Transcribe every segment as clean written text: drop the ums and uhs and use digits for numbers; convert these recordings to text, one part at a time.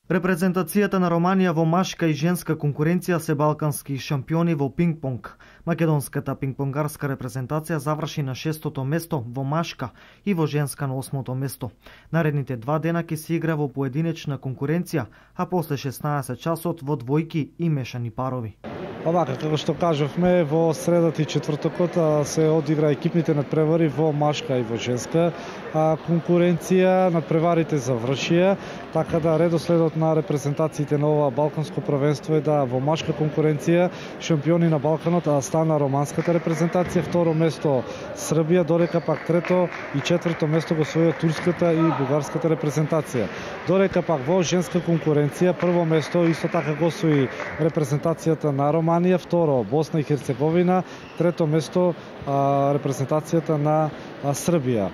Репрезентацијата на Романија во машка и женска конкуренција се балкански шампиони во пинг-понг. Македонската пинг-понгарска репрезентација заврши на 6-то место во машка и во женска на 8-то место. Наредните 2 дена ќе се игра во поединечна конкуренција, а после 16 часот во двојки и мешани парови. Овака, како што кажавме, во средата и четвртокот се одигра екипните надпревари во машка и во женска конкуренција. Надпреварите завршија, така да редоследот на репрезентациите на ова балканско првенство е да во машка конкуренција шампиони на Балканот стана романската репрезентација, второ место Србија, додека пак трето и четврто место го освоија турската и бугарската репрезентација. Додека пак во женска конкуренција прво место исто така го освои репрезентацијата на Романија, второ Босна и Херцеговина, трето место репрезентацијата на Србија.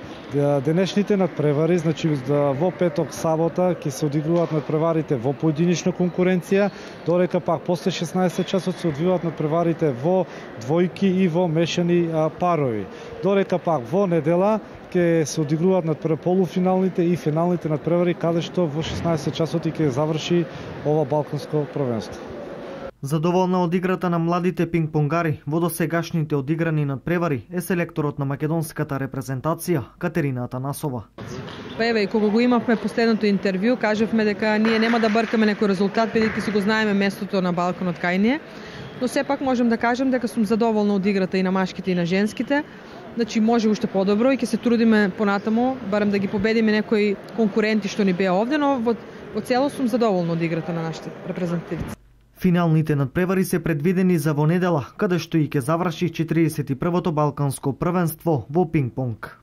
Денешните надпревари, значи во петок, сабота ќе се одигруваат надпреварите во поединечна конкуренција, додека пак после 16 часот се одвиваат надпреварите во двојки и во мешани парови. Додека пак во недела ќе се одигруваат полуфиналните и финалните надпревари, каде што во 16 часот и ќе заврши ова балканско првенство. Задоволна од играта на младите пинг-понгари во досегашните одиграни надпревари е селекторот на македонската репрезентација Катерина Атанасова. Еве, кога го имавме последното интервју, кажавме дека ние нема да бркаме некој резултат, бидејќи си го знаеме местото на Балканот кај ние, но сепак можам да кажам дека сум задоволна од играта и на машките и на женските. Значи може уште подобро и ќе се трудиме понатаму, барем да ги победиме некои конкуренти што ни беа овде, но во цело сум задоволна од играта на нашите репрезентативци. Финалните надпревари се предвидени за во недела, каде што и ќе заврши 41-то балканско првенство во пинг-понг.